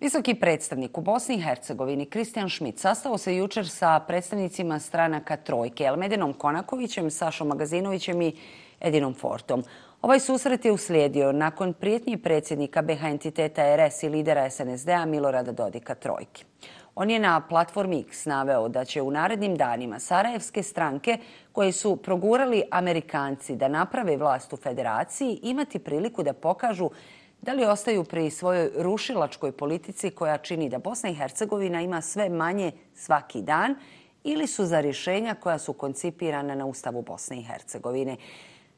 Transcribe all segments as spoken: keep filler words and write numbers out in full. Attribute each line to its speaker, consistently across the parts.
Speaker 1: Visoki predstavnik u Bosni i Hercegovini Kristijan Šmit sastao se jučer sa predstavnicima stranaka Trojke, Elmedinom Konakovićem, Sašom Magazinovićem i Edinom Fortom. Ovaj susret je uslijedio nakon prijetnji predsjednika B H entiteta R S i lidera S N S D-a Milorada Dodika Trojke. On je na platformi X naveo da će u narednim danima sarajevske stranke koje su progurali Amerikanci da naprave vlast u federaciji imati priliku da pokažu da li ostaju pri svojoj rušilačkoj politici koja čini da Bosna i Hercegovina ima sve manje svaki dan ili su za rješenja koja su koncipirana na Ustavu Bosne i Hercegovine.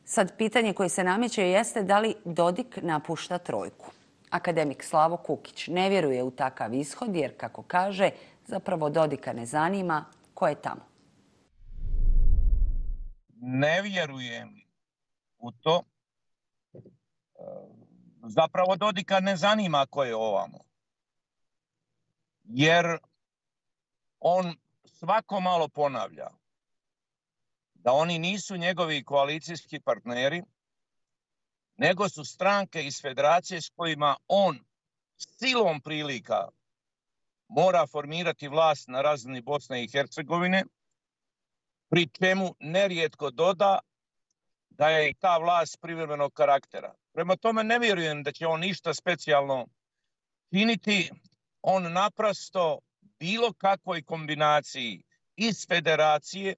Speaker 1: Sad pitanje koje se nameće jeste da li Dodik napušta Trojku. Akademik Slavo Kukić ne vjeruje u takav ishod jer, kako kaže, zapravo Dodika ne zanima ko je tamo.
Speaker 2: Ne vjerujem u to. Zapravo Dodika ne zanima ko je ovamo. Jer on svako malo ponavlja da oni nisu njegovi koalicijski partneri, nego su stranke iz federacije s kojima on silom prilika mora formirati vlast na razini Bosne i Hercegovine, pri čemu nerijetko doda da je i ta vlast privremenog karaktera. Prema tome ne vjerujem da će on ništa specijalno činiti. On naprosto bilo kakvoj kombinaciji iz federacije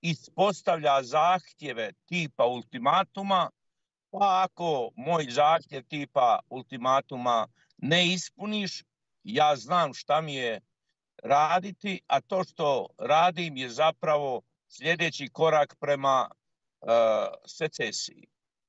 Speaker 2: ispostavlja zahtjeve tipa ultimatuma, pa ako moj zahtjev tipa ultimatuma ne ispuniš, ja znam šta mi je raditi, a to što radim je zapravo sljedeći korak prema uh, secesiji.